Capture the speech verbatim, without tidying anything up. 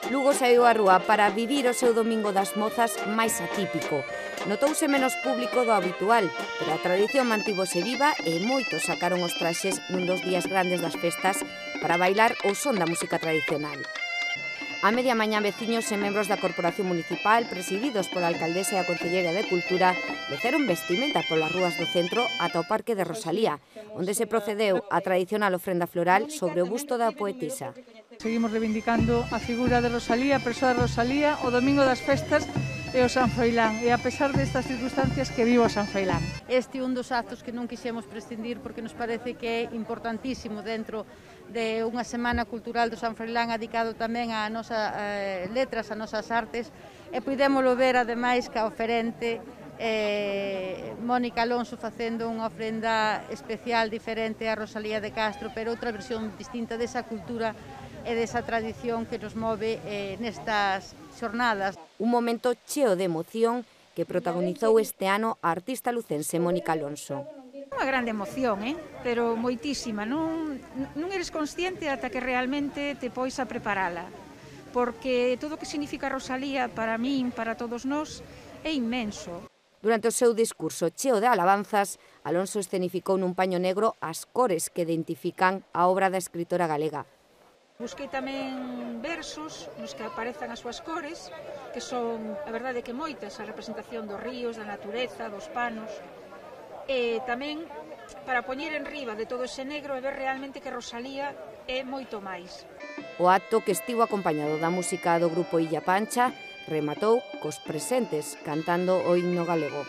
Lugo saíu á rúa para vivir o seu Domingo das Mozas máis atípico. Notouse menos público do habitual, pero a tradición mantívose viva e moitos sacaron os traxes nun dos días grandes das festas para bailar o son da música tradicional. A media mañá veciños e membros da Corporación Municipal, presididos pola alcaldesa e a Concelleira de Cultura, leceron vestimenta polas rúas do centro ata o Parque de Rosalía, onde se procedeu a tradicional ofrenda floral sobre o busto da poetisa. Seguimos reivindicando a figura de Rosalía, a persoa de Rosalía, o Domingo das Festas e o San Froilán, e a pesar destas circunstancias que vivo o San Froilán. Este é un dos actos que non quixemos prescindir porque nos parece que é importantísimo dentro de unha semana cultural do San Froilán dedicado tamén a nosas eh, letras, a nosas artes, e puidémolo ver ademais ca oferente eh, Mónica Alonso facendo unha ofrenda especial diferente a Rosalía de Castro, pero outra versión distinta desa cultura e desa tradición que nos move eh, nestas xornadas. Un momento cheo de emoción que protagonizou este ano a artista lucense Mónica Alonso. Unha grande emoción, eh? Pero moitísima. Non, non eres consciente ata que realmente te pois a preparala. Porque todo o que significa Rosalía para min, para todos nós, é inmenso. Durante o seu discurso cheo de alabanzas, Alonso escenificou nun paño negro as cores que identifican a obra da escritora galega. Busquei tamén versos nos que aparezan as súas cores, que son, a verdade, que moitas, a representación dos ríos, da natureza, dos panos, e tamén para poñer en riba de todo ese negro e ver realmente que Rosalía é moito máis. O acto, que estivo acompañado da música do grupo Illa Pancha, rematou cos presentes cantando o himno galego.